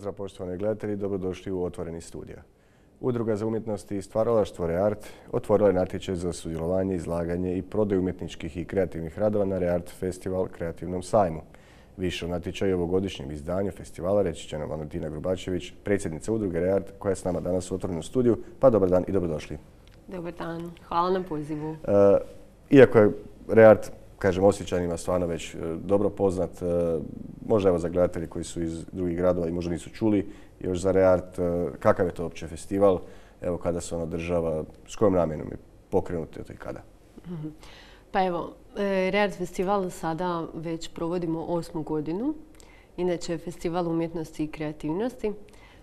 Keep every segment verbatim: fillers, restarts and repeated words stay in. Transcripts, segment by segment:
pozdrav poštovani gledatelji, dobrodošli u Otvoreni studija. Udruga za umjetnost i stvaralaštvo ReArt otvorila je natječaj za sudjelovanje, izlaganje i prodaju umjetničkih i kreativnih radova na ReArt Festival kreativnom sajmu. Više o natječaju i ovogodišnjem izdanju festivala reći će nam Valentina Grubačević, predsjednica udruge ReArt, koja je s nama danas u Otvorenom studiju. Pa dobar dan i dobrodošli. Dobar dan, hvala na pozivu. E, iako je ReArt, kažem, Osječanima stvarno već dobro poznat, e, možda evo za gledatelji koji su iz drugih gradova i možda nisu čuli još za ReArt, e, kakav je to uopće festival, evo kada se on održava, s kojom namjenom je pokrenut i kada? Mm-hmm. Pa evo, ReArt festival sada već provodimo osmu godinu. Inače je festival umjetnosti i kreativnosti,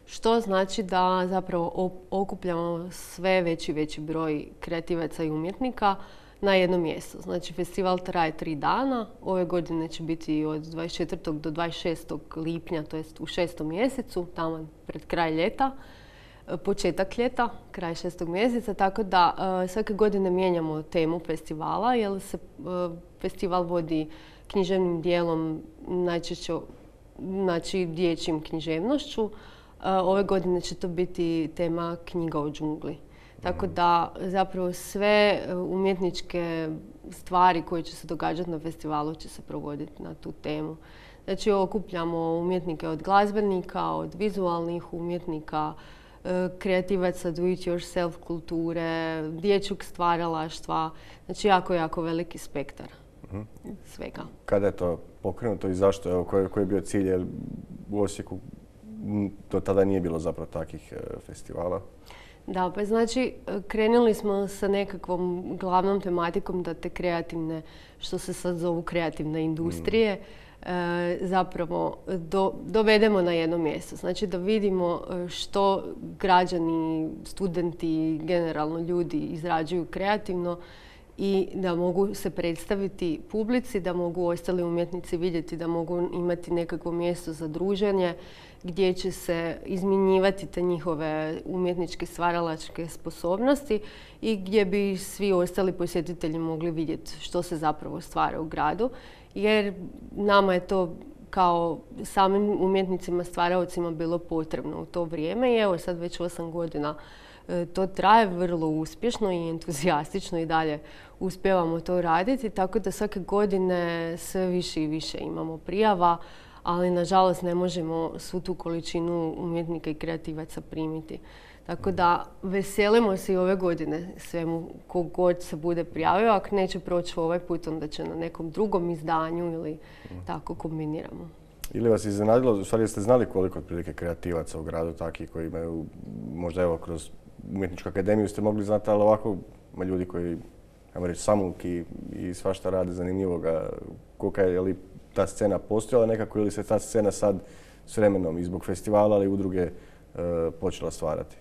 što znači da zapravo okupljamo sve veći i veći broj kreativaca i umjetnika na jedno mjesto. Znači, festival traje tri dana. Ove godine će biti od dvadeset četvrtog do dvadeset šestog lipnja, to jest u šestom mjesecu, tamo pred kraj ljeta, početak ljeta, kraj šestog mjeseca, tako da uh, svake godine mijenjamo temu festivala, jer se uh, festival vodi književnim dijelom, najčešće znači dječjim književnošću. Uh, ove godine će to biti tema knjiga o džungli. Tako da zapravo sve umjetničke stvari koje će se događati na festivalu će se provoditi na tu temu. Znači okupljamo umjetnike od glazbenika, od vizualnih umjetnika, kreativaca do it yourself kulture, dječjeg stvaralaštva. Znači jako, jako veliki spektar uh-huh. svega. Kada je to pokrenuto i zašto? Evo, koji, koji je bio cilj? Jer u Osijeku do tada nije bilo zapravo takvih festivala. Da, pa znači krenuli smo sa nekakvom glavnom tematikom da te kreativne, što se sad zovu kreativne industrije, mm. e, zapravo do, dovedemo na jedno mjesto. Znači da vidimo što građani, studenti, generalno ljudi izrađuju kreativno i da mogu se predstaviti publici, da mogu ostali umjetnici vidjeti, da mogu imati nekakvo mjesto za druženje gdje će se izmjenjivati te njihove umjetničke stvaralačke sposobnosti i gdje bi svi ostali posjetitelji mogli vidjeti što se zapravo stvara u gradu. Jer nama je to kao samim umjetnicima, stvaraocima bilo potrebno u to vrijeme i evo sad već osam godina to traje vrlo uspješno i entuzijastično i dalje uspijevamo to raditi, tako da svake godine sve više i više imamo prijava, ali nažalost ne možemo svu tu količinu umjetnika i kreativaca primiti. Tako da veselimo se i ove godine svemu kogod se bude prijavio, ako neće proći ovaj put, onda će na nekom drugom izdanju ili tako kombiniramo. Ili vas iznenadilo, u stvari ste znali koliko otprilike kreativaca u gradu takih koji imaju, možda evo kroz umjetničku akademiju ste mogli znati, ali ovako ima ljudi koji, ajmo reći, samuki i svašta rade zanimljivoga. Kolika je, je li ta scena postojala nekako ili se ta scena sad s vremenom i zbog festivala ali i udruge e, počela stvarati?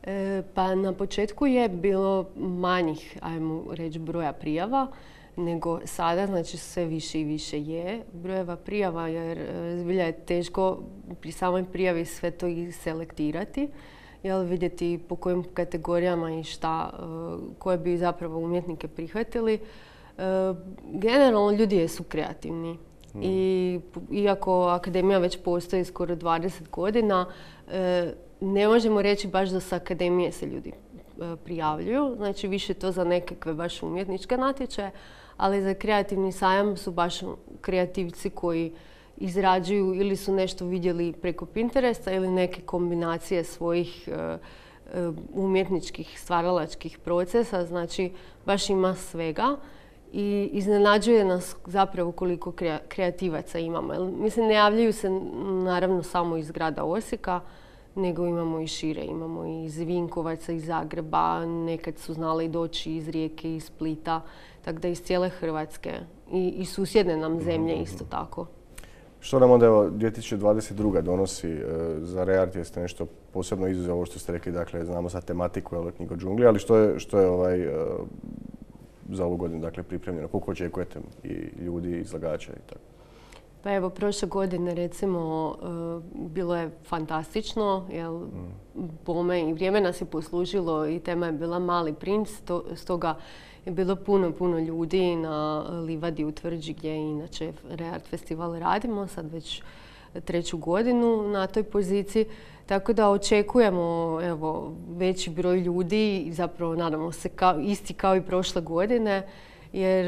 E, pa na početku je bilo manjih, ajmo reći, broja prijava nego sada, znači sve više i više je brojeva prijava jer zbilja je teško pri samoj prijavi sve to i selektirati. Jel, vidjeti po kojim kategorijama i šta, koje bi zapravo umjetnike prihvatili. Generalno ljudi jesu kreativni. Hmm. I iako akademija već postoji skoro dvadeset godina, ne možemo reći baš da sa akademije se ljudi prijavljuju. Znači više to za nekakve baš umjetničke natječaje, ali za kreativni sajam su baš kreativci koji izrađuju ili su nešto vidjeli preko Pinteresta ili neke kombinacije svojih uh, umjetničkih stvaralačkih procesa. Znači baš ima svega i iznenađuje nas zapravo koliko kreativaca imamo. Mislim, ne javljaju se naravno samo iz grada Osijeka, nego imamo i šire. Imamo i iz Vinkovaca, iz Zagreba, nekad su znali doći iz Rijeke, iz Splita, tako da iz cijele Hrvatske i, i susjedne nam zemlje isto tako. Što nam onda evo dvije tisuće dvadeset druga donosi e, za ReArt? Jeste nešto posebno izuzeo ovo što ste rekli, dakle znamo sad tematiku, evo knjiga o džungli, ali što je, što je ovaj, e, za ovu godinu dakle, pripremljeno? Koliko očekujete i ljudi, izlagača i tako? Pa evo, prošle godine recimo bilo je fantastično, jer bome i vrijeme nas je poslužilo i tema je bila Mali princ, stoga je bilo puno, puno ljudi na livadi u Tvrđi gdje inače ReArt festival radimo. Sad već treću godinu na toj poziciji. Tako da očekujemo evo, veći broj ljudi i zapravo nadamo se kao, isti kao i prošle godine. Jer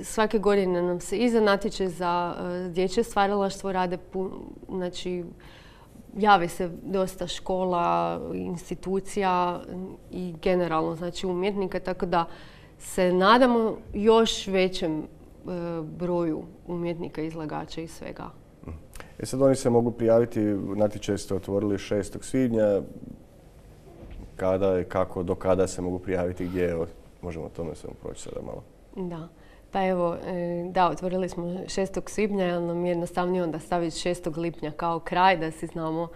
svake godine nam se i za natječaj za dječje stvaralaštvo rade, znači jave se dosta škola, institucija i generalno znači umjetnika, tako da se nadamo još većem broju umjetnika, izlagača i svega. E sad oni se mogu prijaviti, natječaj ste otvorili šestog svibnja, kada i kako, do kada se mogu prijaviti, gdje, evo, možemo o tome samo proći sada malo. Da, pa evo, da, otvorili smo šestog svibnja, jer nam je jednostavnije onda staviti šestog lipnja kao kraj, da si znamo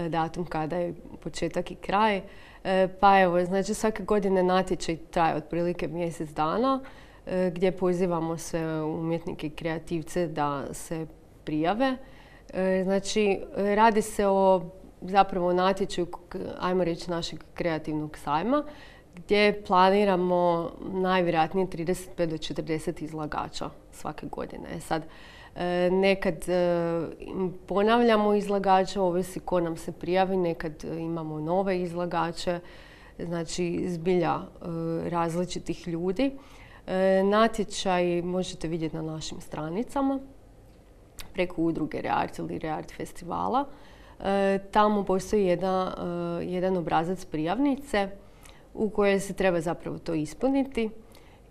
datum kada je početak i kraj. Pa evo, znači svake godine natječaj traje otprilike mjesec dana, gdje pozivamo sve umjetnike i kreativce da se prijave. Znači, radi se o zapravo natječaju, ajmo reći, našeg kreativnog sajma, gdje planiramo najvjerojatnije trideset pet do četrdeset izlagača svake godine. Sad, nekad ponavljamo izlagača, ovisi ko nam se prijavi, nekad imamo nove izlagače, znači zbilja različitih ljudi. Natječaj možete vidjeti na našim stranicama preko udruge Reart ili Reart festivala. Tamo postoji jedan, jedan obrazac prijavnice u kojoj se treba zapravo to ispuniti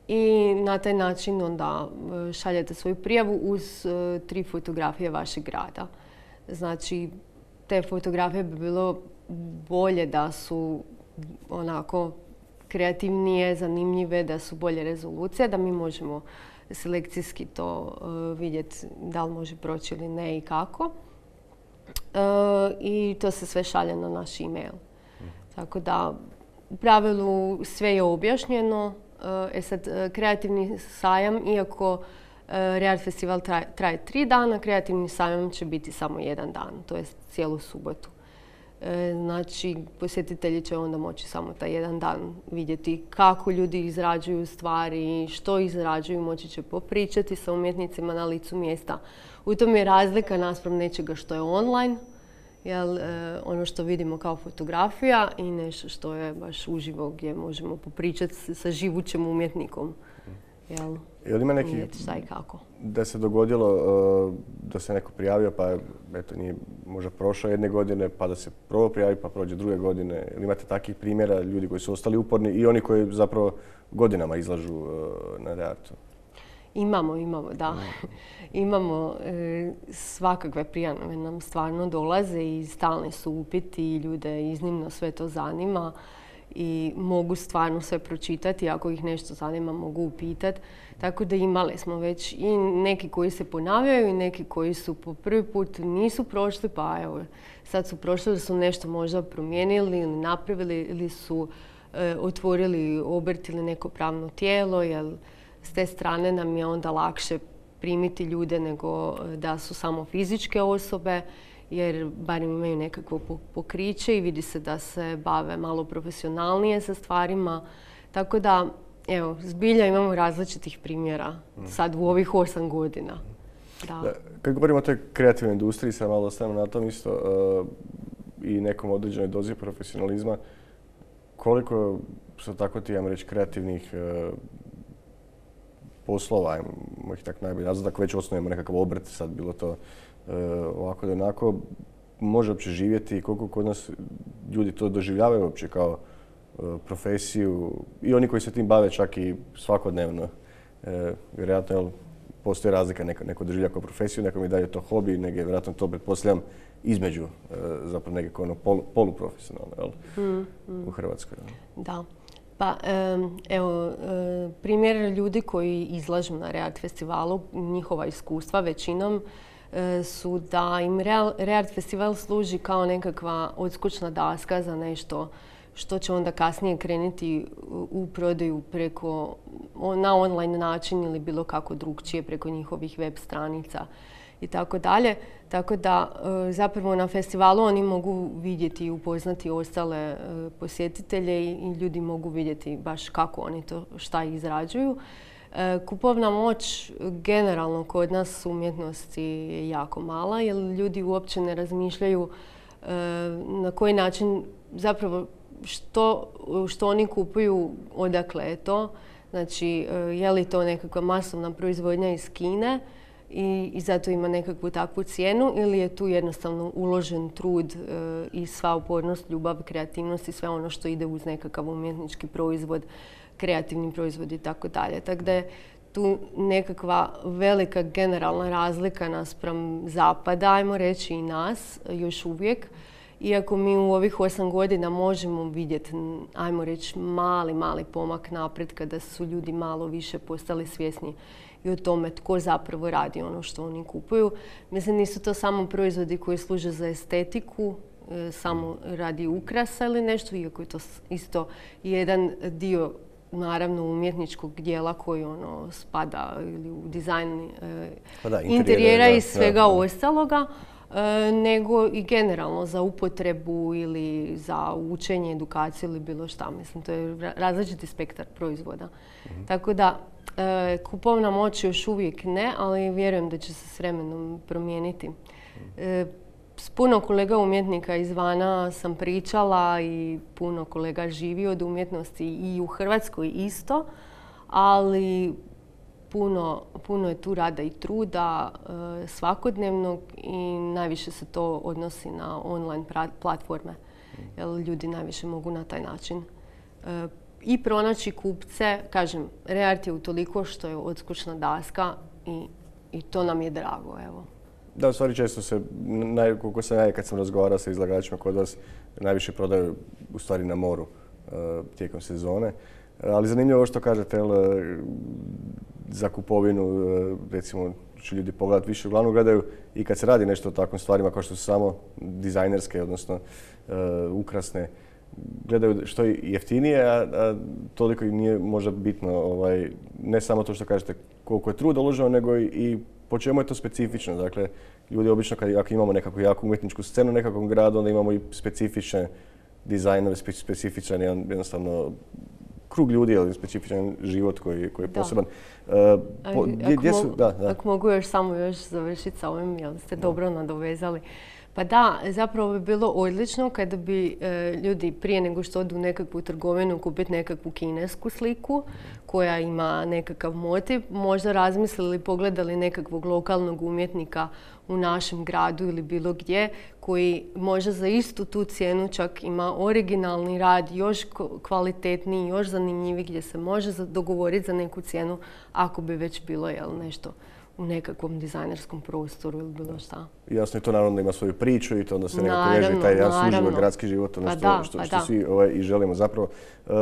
i na taj način onda šaljete svoju prijavu uz tri fotografije vašeg grada. Znači, te fotografije bi bilo bolje da su onako kreativnije, zanimljive, da su bolje rezolucije, da mi možemo selekcijski to vidjeti da li može proći ili ne i kako. I to se sve šalje na naš e-mail. Tako da, u pravilu sve je objašnjeno. E sad, kreativni sajam, iako Reart festival traje, traje tri dana, kreativni sajam će biti samo jedan dan, to je cijelu subotu. Znači, posjetitelji će onda moći samo taj jedan dan vidjeti kako ljudi izrađuju stvari, što izrađuju, moći će popričati sa umjetnicima na licu mjesta. U tom je razlika naspram nečega što je online, jel, ono što vidimo kao fotografija i nešto što je baš uživo gdje možemo popričati sa živućim umjetnikom. Jel, jel ima neki, šta i kako. Da se dogodilo uh, da se neko prijavio pa eto, nije možda prošao jedne godine pa da se prvo prijavi pa prođe druge godine. Ili imate takvih primjera ljudi koji su ostali uporni i oni koji zapravo godinama izlažu uh, na Reartu? Imamo, imamo, da. Imamo e, svakakve prijave nam stvarno dolaze i stalni su upiti i ljude iznimno sve to zanima i mogu stvarno sve pročitati. Ako ih nešto zanima mogu upitati. Tako da imali smo već i neki koji se ponavljaju i neki koji su po prvi put nisu prošli, pa evo sad su prošli da su nešto možda promijenili ili napravili ili su e, otvorili obrt ili neko pravno tijelo, jer s te strane nam je onda lakše primiti ljude nego da su samo fizičke osobe, jer barem imaju nekakvo pokriće i vidi se da se bave malo profesionalnije sa stvarima. Tako da, evo, zbilja imamo različitih primjera sad u ovih osam godina. Da. Da, kad govorimo o toj kreativnoj industriji, sad malo ostavimo na tom isto uh, i nekom određenoj dozi profesionalizma, koliko su tako ti, ajmo reći, kreativnih uh, poslova, ajmo ih tako najbolje nazvati, ako već osnujemo nekakav obrt, sad bilo to uh, ovako da onako, može uopće živjeti i koliko kod nas ljudi to doživljavaju uopće kao uh, profesiju i oni koji se tim bave čak i svakodnevno. Uh, vjerojatno, jel, postoji razlika, neko, neko doživlja kao profesiju, neko mi daje to hobi, nego je vjerojatno to pretpostavljam između, uh, zapravo nekako ono polu, poluprofesionalno, jel, mm, mm. u Hrvatskoj. Jel? Da. Pa, evo, primjer ljudi koji izlažu na Reart festivalu, njihova iskustva većinom su da im Reart festival služi kao nekakva odskočna daska za nešto što će onda kasnije krenuti u prodaju preko, na online način ili bilo kako drugčije preko njihovih web stranica i tako dalje. Tako da zapravo na festivalu oni mogu vidjeti i upoznati ostale posjetitelje i ljudi mogu vidjeti baš kako oni to šta izrađuju. Kupovna moć generalno kod nas u umjetnosti je jako mala jer ljudi uopće ne razmišljaju na koji način zapravo što, što oni kupuju, odakle je to. Znači, je li to nekakva masovna proizvodnja iz Kine i, i zato ima nekakvu takvu cijenu ili je tu jednostavno uložen trud i sva upornost, ljubav, kreativnost i sve ono što ide uz nekakav umjetnički proizvod, kreativni proizvod i tako dalje. Tako da je tu nekakva velika generalna razlika naspram zapada, ajmo reći i nas, još uvijek. Iako mi u ovih osam godina možemo vidjeti, ajmo reći, mali, mali pomak naprijed kada su ljudi malo više postali svjesni i o tome tko zapravo radi ono što oni kupuju. Mislim, nisu to samo proizvodi koji služe za estetiku, samo radi ukrasa ili nešto, iako je to isto jedan dio naravno umjetničkog dijela koji ono spada ili u dizajn pa da, interijera i svega da, da. ostaloga, e, nego i generalno za upotrebu ili za učenje, edukaciju ili bilo šta. Mislim, to je različiti spektar proizvoda. Mm-hmm. Tako da, e, kupovna moć još uvijek ne, ali vjerujem da će se s vremenom promijeniti. E, S puno kolega umjetnika izvana sam pričala i puno kolega živi od umjetnosti i u Hrvatskoj isto, ali puno, puno je tu rada i truda e, svakodnevnog i najviše se to odnosi na online platforme, jer ljudi najviše mogu na taj način e, i pronaći kupce. Kažem, Reart je utoliko što je odskočna daska i, i to nam je drago, evo. Da, u stvari često se, naj, koliko sam ja kad sam razgovarao sa izlagačima kod vas, najviše prodaju u stvari na moru uh, tijekom sezone. Ali zanimljivo ovo što kažete, jel, za kupovinu, uh, recimo, će ljudi pogledati više, uglavnom gledaju i kad se radi nešto o takvim stvarima kao što su samo dizajnerske, odnosno uh, ukrasne, gledaju što je jeftinije, a, a toliko im nije možda bitno, ovaj, ne samo to što kažete koliko je truda uloženo, nego i, i po čemu je to specifično. Dakle, ljudi obično kad ako imamo nekakvu jaku umjetničku scenu u nekakvom gradu, onda imamo i specifične dizajnove, specifičan jednostavno krug ljudi, ali specifičan život koji, koji je poseban. Uh, po, gdje, gdje su, da, da. Ako mogu još samo još završiti sa ovim, jel ste da. dobro nadovezali. Pa da, zapravo bi bilo odlično kada bi e, ljudi prije nego što odu u nekakvu trgovinu kupiti nekakvu kinesku sliku koja ima nekakav motiv, možda razmislili, pogledali nekakvog lokalnog umjetnika u našem gradu ili bilo gdje koji možda za istu tu cijenu čak ima originalni rad, još kvalitetniji, još zanimljiviji, gdje se može dogovoriti za neku cijenu ako bi već bilo jel, nešto u nekakvom dizajnerskom prostoru ili bilo šta. Jasno je to naravno da ima svoju priču i to onda se nekako veže taj jedan suživak gradski život, ono pa što, da, što, pa što da. svi ovaj, i želimo zapravo. Uh,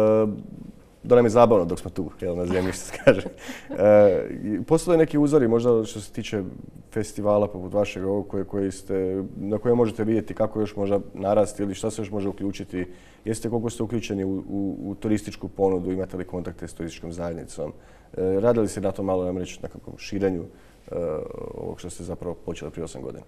da nam je zabavno dok smo tu, jel, na zemlji, što se kaže. Uh, postoje neki uzori, možda što se tiče festivala poput vašeg ovog koje, koji ste, na koje možete vidjeti kako još možda narasti ili šta se još može uključiti. Jeste koliko ste uključeni u, u, u turističku ponudu, imate li kontakte s turističkom zajednicom? Uh, radili ste na to malo, nam reći, na kakvom širenju uh, ovog što ste zapravo počeli prije osam godina?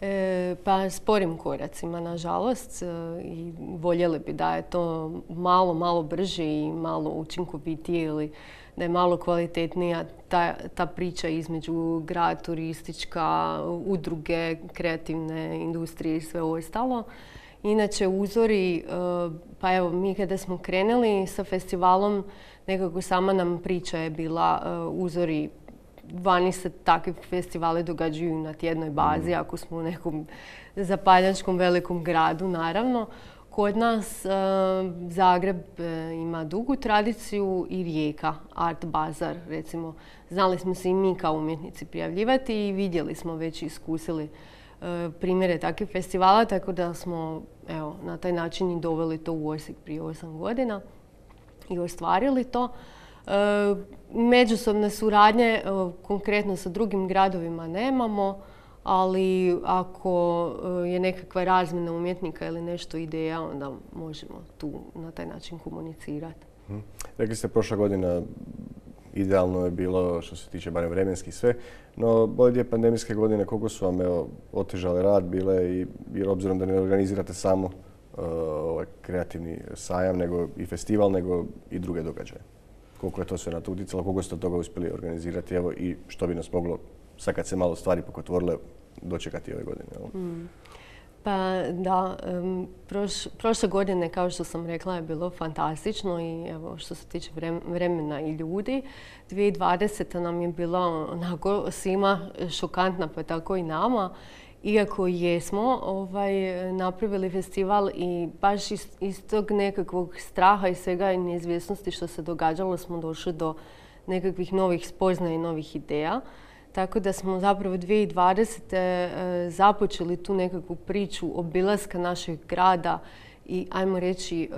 E, pa sporim koracima, nažalost, e, i voljeli bi da je to malo, malo brže i malo učinkovitije ili da je malo kvalitetnija ta, ta priča između grad, turistička, udruge, kreativne industrije i sve ostalo. Inače, uzori, e, pa evo, mi kada smo krenuli sa festivalom, nekako sama nam priča je bila e, uzori. Vani se takvi festivali događaju na tjednoj bazi, ako smo u nekom zapadnjačkom velikom gradu, naravno. Kod nas e, Zagreb e, ima dugu tradiciju i Rijeka, Art Bazar, recimo. Znali smo se i mi kao umjetnici prijavljivati i vidjeli smo već i iskusili e, primjere takvih festivala, tako da smo evo, na taj način i doveli to u Osijek prije osam godina i ostvarili to. E, međusobne suradnje, e, konkretno sa drugim gradovima nemamo, ali ako e, je nekakva razmjena umjetnika ili nešto ideja, onda možemo tu na taj način komunicirati. Hmm. Rekli ste, prošla godina idealno je bilo što se tiče barem vremenski sve, no ove dvije pandemijske godine koliko su vam evo, otežale rad bile i jer obzirom da ne organizirate samo uh, ovaj kreativni sajam, nego i festival, nego i druge događaje? koliko je to sve na to utjecalo, koliko ste od toga uspjeli organizirati, evo, i što bi nas moglo, sad kad se malo stvari pokotvorile, dočekati ove godine. Evo. Mm. Pa da, um, proš, prošle godine, kao što sam rekla, je bilo fantastično i evo, što se tiče vremena i ljudi. dvije tisuće dvadeseta nam je bila onako svima šokantna, pa tako i nama. Iako jesmo ovaj, napravili festival i baš iz, iz tog nekakvog straha i svega i neizvjesnosti što se događalo smo došli do nekakvih novih spoznaja i novih ideja. Tako da smo zapravo dvije tisuće dvadesete započeli tu nekakvu priču obilaska našeg grada i ajmo reći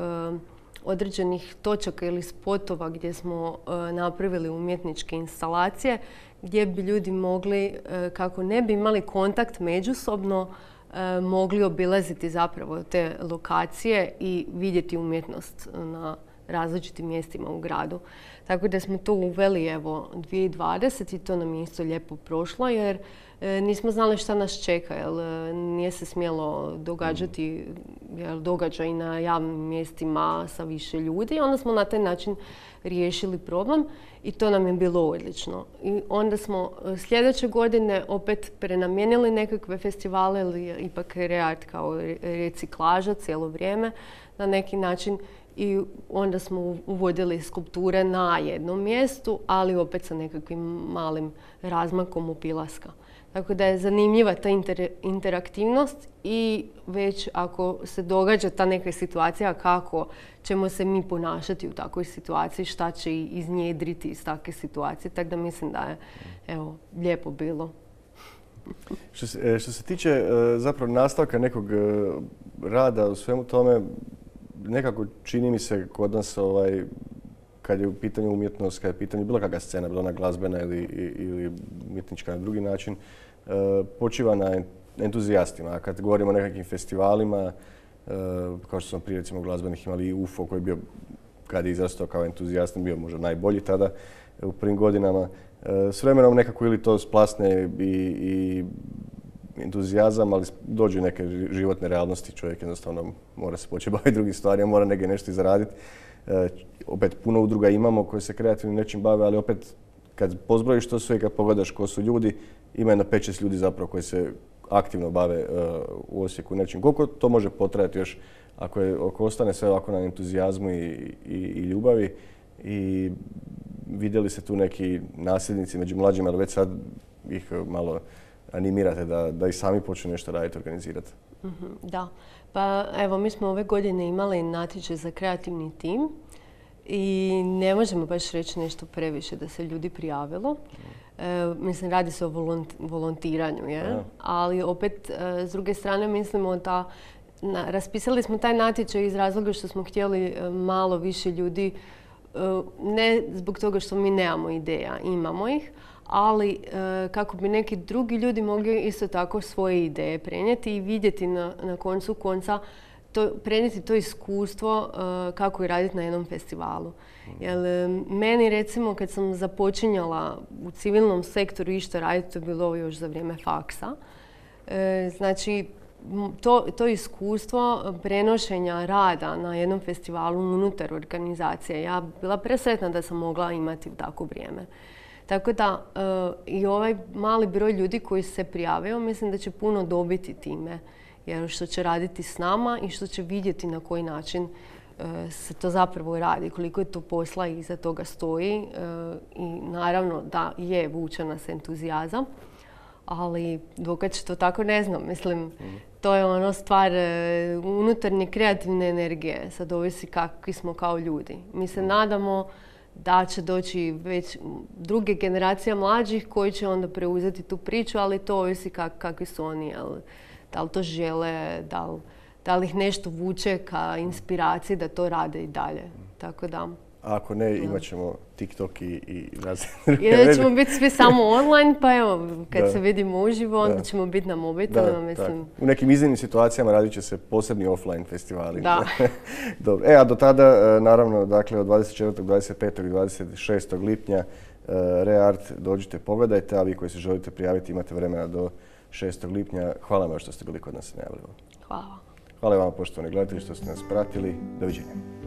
određenih točaka ili spotova gdje smo napravili umjetničke instalacije gdje bi ljudi mogli, kako ne bi imali kontakt međusobno, mogli obilaziti zapravo te lokacije i vidjeti umjetnost na različitim mjestima u gradu. Tako da smo to uveli evo dvije tisuće dvadesete i to nam je isto lijepo prošlo jer e, nismo znali šta nas čeka, jer e, nije se smjelo događati jer događaj na javnim mjestima sa više ljudi. Onda smo na taj način riješili problem i to nam je bilo odlično. I onda smo sljedeće godine opet prenamijenili nekakve festivale ili ipak ReArt kao reciklaža cijelo vrijeme na neki način. I onda smo uvodili skulpture na jednom mjestu, ali opet sa nekakvim malim razmakom obilaska. Tako da je zanimljiva ta inter, interaktivnost i već ako se događa ta neka situacija kako ćemo se mi ponašati u takvoj situaciji, šta će iznjedriti iz takve situacije. Tako da mislim da je evo, lijepo bilo. Što se, što se tiče zapravo nastavka nekog rada u svemu tome, nekako čini mi se kod nas, ovaj, kad je u pitanju umjetnost, kad je u pitanju bilo kakva scena, bila ona glazbena ili, ili umjetnička na drugi način, e, počiva na entuzijastima. A kad govorimo o nekakvim festivalima, e, kao što smo prije recimo glazbenih imali i U F O koji je bio, kad je izrastao kao entuzijast, bio možda najbolji tada u prvim godinama. E, s vremenom nekako ili to splasne i, i entuzijazam, ali dođu neke životne realnosti, čovjek jednostavno mora se početi baviti drugim stvarima, mora negdje nešto i zaraditi. E, opet puno udruga imamo koje se kreativnim nečim bave, ali opet kad pozbrojiš to sve i kad pogledaš ko su ljudi, ima jedno pet šest ljudi zapravo koji se aktivno bave uh, u Osijeku nečim. Koliko to može potrajati još ako, je, ako ostane sve ovako na entuzijazmu i, i, i ljubavi i vidjeli se tu neki nasljednici među mlađima, ali već sad ih malo animirate da, da i sami počnu nešto raditi, organizirati. Mm-hmm, da. Pa evo, mi smo ove godine imali natječaj za kreativni tim i ne možemo baš reći nešto previše da se ljudi prijavilo. E, mislim, radi se o volont, volontiranju, je? Ali opet, e, s druge strane, mislimo da na, raspisali smo taj natječaj iz razloga što smo htjeli e, malo više ljudi, e, ne zbog toga što mi nemamo ideja, imamo ih, ali e, kako bi neki drugi ljudi mogli isto tako svoje ideje prenijeti i vidjeti na, na koncu konca, to, prenijeti to iskustvo uh, kako je raditi na jednom festivalu. Jer meni recimo kad sam započinjala u civilnom sektoru išta raditi, to je bilo još za vrijeme faksa. E, znači to, to iskustvo prenošenja rada na jednom festivalu unutar organizacije, ja bila presretna da sam mogla imati u tako vrijeme. Tako da uh, i ovaj mali broj ljudi koji se prijavio, mislim da će puno dobiti time. Jer što će raditi s nama i što će vidjeti na koji način uh, se to zapravo radi, koliko je to posla i iza toga stoji. Uh, I naravno da je vuče nas entuzijazam, ali dokad će to tako ne znam. Mislim, mm. to je ono stvar uh, unutarnje kreativne energije. Sad ovisi kakvi smo kao ljudi. Mi se mm. nadamo da će doći već druge generacije mlađih koji će onda preuzeti tu priču, ali to ovisi kak, kakvi su oni. Jel? Da li to žele, da li, da li ih nešto vuče ka inspiraciji da to rade i dalje. Tako da. A ako ne, imat ćemo TikTok i, i Ili ćemo biti svi samo online, pa evo, kad da. se vidimo uživo, onda da. ćemo biti na mobitelima, mislim. U nekim iznimnim situacijama radit će se posebni offline festivali. Da. Dobro. E, a do tada, naravno, dakle, od dvadeset četvrtog, dvadeset petog i dvadeset šestog lipnja ReArt dođite, pogledajte, a vi koji se želite prijaviti imate vremena do šestog lipnja. Hvala vam što ste bili kod nas i najavili. Hvala. Hvala vam, poštovani gledatelji, što ste nas pratili. Doviđenja.